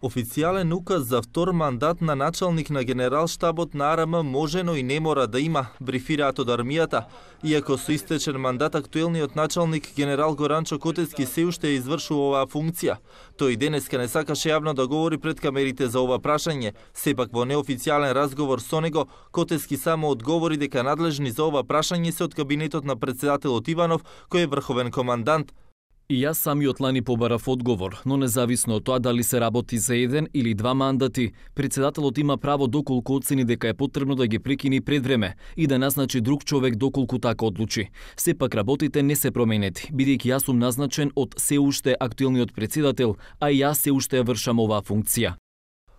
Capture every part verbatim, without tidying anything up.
Официјален указ за втор мандат на началник на Генералштабот на АРМ може, но и не мора да има, брифираат од армијата. Иако со истечен мандат, актуелниот началник генерал Горанчо Котески се уште ја извршува оваа функција. Тој денеска не сакаше јавно да говори пред камерите за ова прашање. Сепак во неофицијален разговор со него, Котески само одговори дека надлежни за ова прашање се од кабинетот на претседателот Иванов, кој е врховен командант. И јас самиот лани побарав одговор, но независно од тоа дали се работи за еден или два мандати, председателот има право доколку оцени дека е потребно да ги прекини пред време и да назначи друг човек доколку така одлучи. Сепак работите не се променети, бидејќи јас сум назначен од се уште актуелниот председател, а и јас се уште ја вршам оваа функција.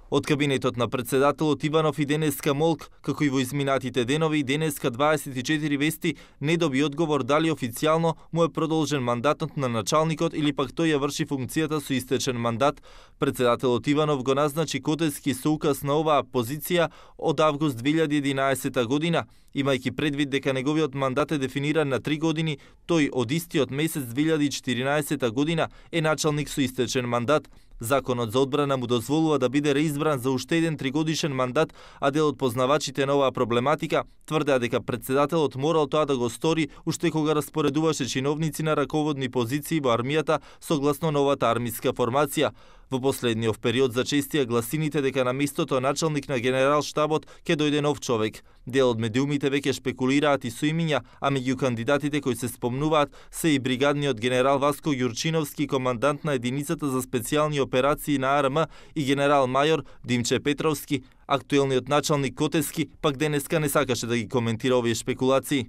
Од кабинетот на претседателот Иванов и денеска Молк, како и во изминатите денови, денеска дваесет и четири вести не доби одговор дали официјално му е продолжен мандатот на началникот или пак тој ја врши функцијата со истечен мандат. Претседателот Иванов го назначи Котески со указ на оваа позиција од август две илјади и единаесета година. Имајќи предвид дека неговиот мандат е дефиниран на три години, тој од истиот месец две илјади и четиринаесета година е началник со истечен мандат. Законот за одбрана му дозволува да биде реизбран за уште еден тригодишен мандат, а дел од познавачите на оваа проблематика тврдеа дека претседателот морал тоа да го стори уште кога распоредуваше чиновници на раководни позиции во армијата согласно новата армиска формација. Во последниот период зачестија гласините дека на местото началник на Генералштабот ќе дојде нов човек. Дел од медиумите веќе шпекулираат и со имиња, а меѓу кандидатите кои се спомнуваат се и бригадниот генерал Васко Јурчиновски, командант на единицата за специјални операции на АРМ, и генерал мајор Димче Петровски. Актуелниот началник Котески пак денеска не сакаше да ги коментира овие шпекулации.